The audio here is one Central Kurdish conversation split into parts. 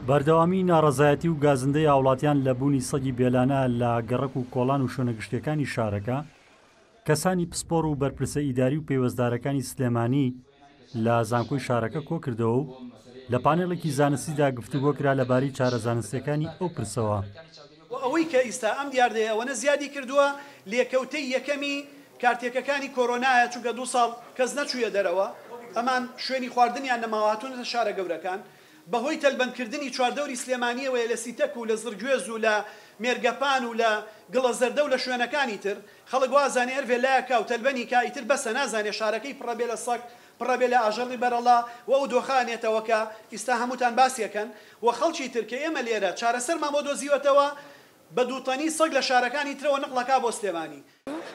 بەردەوامی ناڕەزایەتی و گازندەی هاوڵاتیان لە بوونی سەگی بێلانە لە گەڕەک و کۆڵان و شوێنە گشتیەکانی شارەکە، کەسانی پسپۆڕ و بەرپرسە ئیداری و پەیوەستدارەکانی سلێمانی لە زانکۆی شارەکە کۆکردەوە و لە پانێڵێکی زانستیدا گفتوگۆ کرا لەبارەی چارە زانستیەکانی ئەو پرسەوە. وە ئەوەی کە ئیستا ئەم دیاردەیە ئەوەنە زیادی کردووە لێکەوتەی یەکەمی کارتێکەکانی کۆرۆنایە چونکە دووساڵ کەس نەچوویە دەرەوە ئەمان شوێنی خواردنیان نەماوە هاتوونەتە شارە گەورەکان بەهۆی تەلبەندکردنی چواردەوری سلێمانیەوەیە لە سیتەک و لە زڕگوێز و لە مێرگەپان و لە گڵەزەردە و لە شوێنەکانی تر خەڵک وازانێ هەر ڤێلایەک کا و تەلبەنی کا ئیتر بەسە نازانێ شارەکەی پڕە بێ لە سەگ پڕە بێ لە ئاژەڵی بەرەڵا و ئەو دۆخە ئەنێتەوە کە ئیستا هەمووتان باسی ئەکەن و خەڵکی تر کە ئێمە لێرە چارەسەرمان بۆ دۆزیوەتەوە بە دووتەنی سەگ لە شارەکانی ترەوە نقڵ ئەکا بۆ سلێمانی.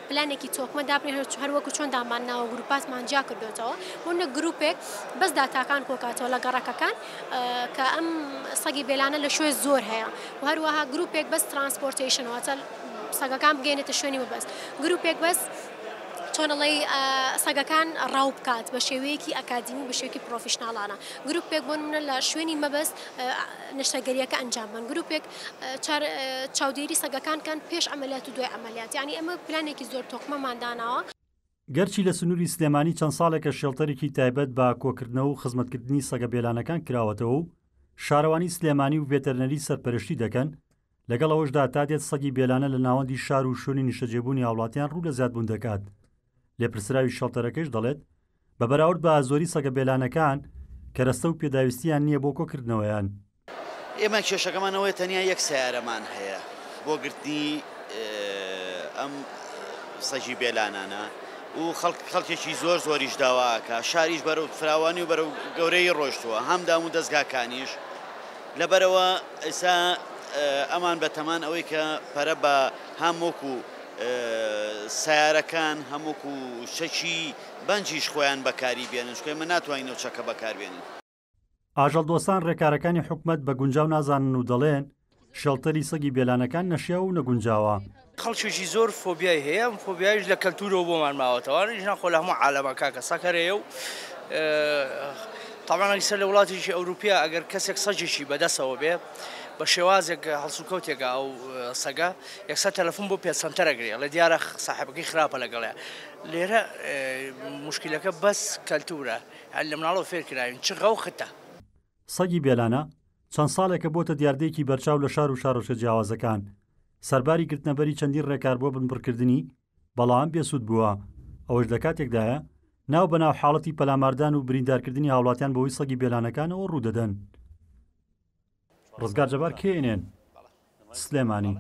پلانێکی تۆکمە دابنێن هەر وەکو چۆن دامان ناوە گروپاتمان جیا کردۆتەوە بۆ نە گروپێک بەس داتاکان کۆکاتەوە لە گەڕەکەکان کە ئەم سەگی بێلانە لە شوێ زۆر هەیە و هەروەها گروپێک بەس transportation واتە سەگەکان بگەێنێتە شوێنی مەبەست گروپێک بەس چۆن ئەڵێی سەگەکان ڕاو بکات بە شێوەیەکی ئەکادیمی بە شێوەیەکی professional انە گروپێک بۆ نمونە لە شوێنی مەبەست نەشتەرگەریەکە ئەنجام بن گروپێک چاودێری سەگەکان کەن پێش عەمەلیات و دوای عەمەلیات یانی ئەمە پلانێکی زۆر تۆکمەمان داناوە. گەرچی لە سنووری سلێمانی چەند ساڵێکە shelter ێکی تایبەت بە کۆکردنەوە و خزمەتکردنی سەگە بێلانەکان کراوەتەوە و شارەوانی سلێمانی و ڤێتەرنەری سەرپەرشتی دەکەن، لەگەڵ ئەوەشدا تا دێت سەگی بێلانە لە ناوەندی شار و شوێنی نیشتەجێبوونی هاوڵاتیان ڕوو لە زیادبوون دەکات. لێپرسراوی shelter ەکەیش دەڵێت، بە بەراورد بە زۆری سەگە بێلانەکان، کەرەستە و پێداویستییان نییە بۆ کۆکردنەوەیان. ئێمە کێشەکەمان ئەوەیە تەنیا یەک سەیارەمان هەیە بۆ گرتنی ئەم سەگی بێلانانە و خەڵکێکی زۆر زۆریش داواکە شاریش بەرەو فراوانی و بەرەو گەورەی ڕۆشتووە هەم دام و دەستگاکانیش لەبەرەوە ئێسا ئەمان بەتەمان ئەوەی کە پەرە بە هەم وەکو سیارەکان هەم وەکو چەکی بەنجیش خۆیان بەکاری بێنن چونکە ئێمە ناتوانین ئەو چەکە بەکاربێنین. ئاژەڵدۆستان ڕێکارەکانی حکومەت بە گونجاو نازانن و دەڵێن، shelter ی سەگی بێلانەکان نەشیاو و نەگونجاوە. خەڵکێکی زۆر فۆبیای هەیە، ئەم فۆبیایش لە کەلتورەوە بۆمان ماوەتەوە، ژنان خۆ لە هەموو عالەمە کاکە سەگ هەر هەیە و تەبعەن ئەگەر لە وڵاتێکی ئەوروپیا ئەگەر کەسێک سەگێکی بەدەستەوە بێ بە شێوازێک هەڵسوکەوتێکە ئەو سەگە یەکسەر تەلەفۆن بۆ pet center ئەگرێ ئەڵێ دیارە ساحێبەکەی خراپە لەگەڵیا. لێرە موشکیلەکە بەس کەلتورە. هەر لە مناڵەوە فێر کراوین چ غەو ختە. سەگی بێلانە چەند ساڵێکە بۆتە دیاردەیەکی بەرچاو لە شار و شارۆچکە جیاوازەکان، سەرباری گرتنەبەری چەندین ڕێکار بۆ بنبڕکردنی، بەڵام بێسوود بووە، ئەوەش لە کاتێکدایە ناو بەناو حاڵەتی پەلاماردان و بریندارکردنی هاوڵاتیان بەهۆی سەگی بێلانەکانەوە ڕوودەدەن. ڕزگار جەبار، KNN، سلێمانی.